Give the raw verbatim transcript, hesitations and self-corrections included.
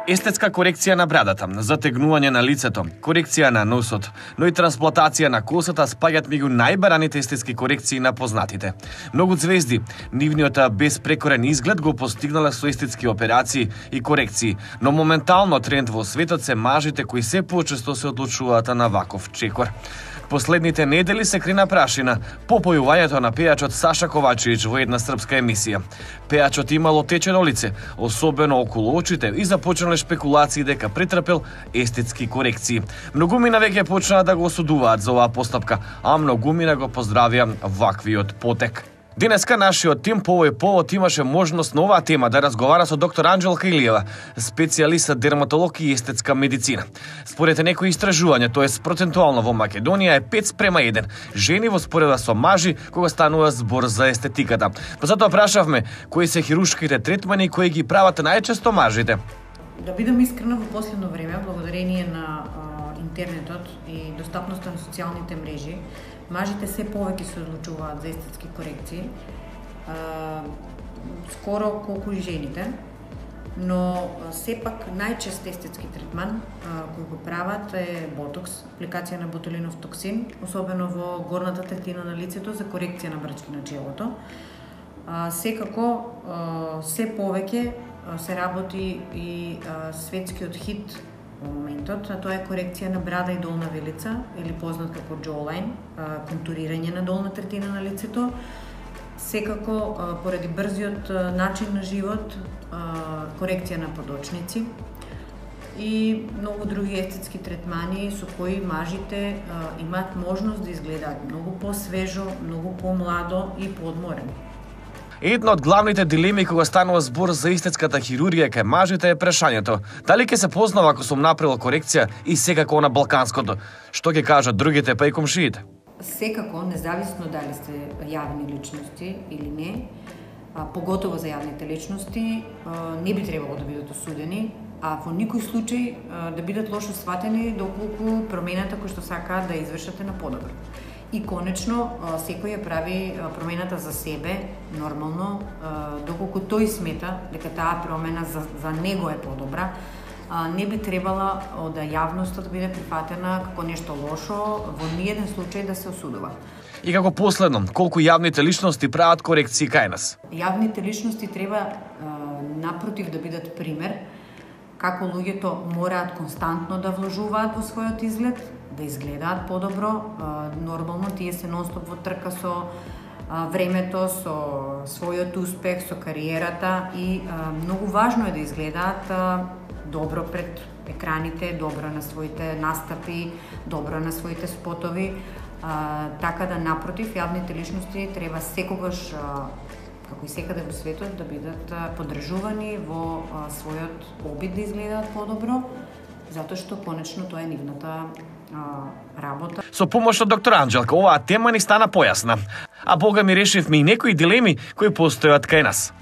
Естетска корекција на брадата, затегнување на лицето, корекција на носот, но и трансплантација на косата спаѓаат меѓу најбараните естетски корекции на познатите. Многу звезди, нивниот безпрекорен изглед го постигнале со естетски операции и корекции, но моментално тренд во светот се мажите кои се почесто се одлучуваат на ваков чекор. Последните недели се крена прашина по појувањето на пејачот Саша Ковачевиќ во една српска емисија. Пејачот имало течено лице, особено околу очите, и започнале шпекулации дека претрпел естетски корекции. Многумина веќе почнаа да го осудуваат за оваа постапка, а многумина го поздравија ваквиот потек. Денеска нашиот тим по овој повод имаше можност на оваа тема да разговара со доктор Анџелка Илиева, специјалист дерматолог и естетска медицина. Според некои истражувања, тоест процентуално во Македонија е пет спрема еден жени во споредба со мажи кога станува збор за естетиката. Затоа прашавме кои се хируршките третмани кои ги прават најчесто мажите. Да бидам искрена, во последно време, благодарение на а, интернетот и достапноста на социјалните мрежи, мажите се повеќе се одлучуваат за естетски корекции, а, скоро колку и жените, но сепак најчест естетски третман а, кој го прават е ботокс, апликација на ботулинов токсин, особено во горната третина на лицето за корекција на брчки на челото. А, секако, а, се повеќе се работи и а, светскиот хит во моментот, а тоа е корекција на брада и долна вилица, или познат како jawline, контурирање на долна третина на лицето. Секако, а, поради брзиот а, начин на живот, а, корекција на подочници и многу други естетски третмани со кои мажите а, имаат можност да изгледаат многу по-свежо, многу по-младо и поодморено. Една од главните дилеми кога станува збор за естетската хирургија кај мажите е прашањето дали ќе се познава ако сум направил корекција и секако на балканското. Што ќе кажат другите па и комшиите? Секако, независно дали сте јавни личности или не, а, поготово за јавните личности, а, не би требало да бидат осудени, а во никој случај а, да бидат лошо сватени доколку промената која што сакаат да извршате на подобро. И конечно, секој ја прави промената за себе, нормално, доколку тој смета дека таа промена за, за него е подобра, не би требала да јавноста да биде прифатена како нешто лошо, во ниеден случај да се осудува. И како последно, колку јавните личности прават корекции кај нас? Јавните личности треба напротив да бидат пример, како луѓето мораат константно да вложуваат во својот изглед, да изгледаат подобро, нормално тие се нонстоп во трка со времето, со својот успех, со кариерата и многу важно е да изгледаат добро пред екраните, добро на своите настапи, добро на своите спотови, така да напротив јавните личности треба секогаш како и секаде во светот да бидат поддржувани во својот обид да изгледаат подобро, затоа што конечно тоа е нивната работа. Со помош од доктор Анџелка, оваа тема ни стана појасна, а бога ми решивме и некои дилеми кои постојат кај нас.